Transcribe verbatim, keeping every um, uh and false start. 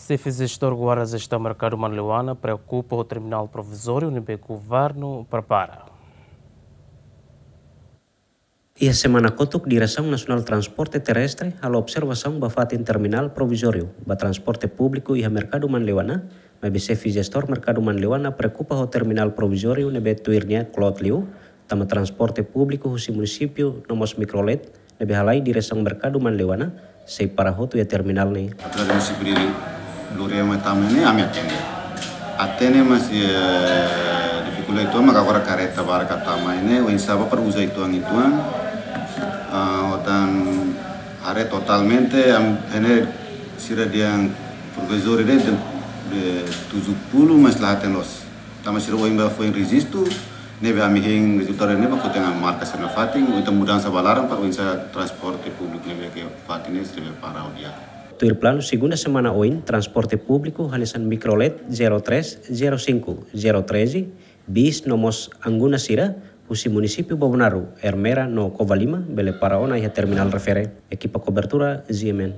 Xefe Jestór Guarda Jestaun Merkadu Manleuana preokupa ho terminál provizóriu ne'ebé governu prepara. Iha semana kotuk, Diresaun Nasionál Transporte Terrestre halo observasaun ba fatin terminál provizóriu ba transporte públiku iha Merkadu Manleuana, maibé Xefe Jestór Merkadu Manleuana preokupa ho terminál provizóriu ne'ebé tuir nia kloot liu, tanba transporte públiku husi munisípiu no mós mikrolet ne'ebé halai diresaun Merkadu Manleuana sei para hotu iha terminál ne'e. Autoridade munisípiu Loriu mai tama ne'e, ami atende. Atende, mas, eh, difikulta uitoan, maka agora karreta barak tama ne'e, oinsá ba para uza uitoan, uitoan. Ah, otan haree totalmente, ami, ne'e sira dehan provizóriu ne'e de, de tujuh puluh, mas la hatene loos. Tanba sira ohin ba foin rejistu, ne'ebé ami hein rezultadu ne'e ba ko'alia ho marka sira nafatin, oinsá mudansa ba laran para oinsá transporte públiku ne'ebé iha fatin ne'e sira para ho di'ak. Tuir planu, segunda semana oin, transporte públiku hanesan mikrolet zero três, zero cinco, zero treze, bis no mós anguna sira husi munisípiu Bobonaro, Ermera no Covalima bele para ona iha terminál refere. Ekipa kobertura, G M N.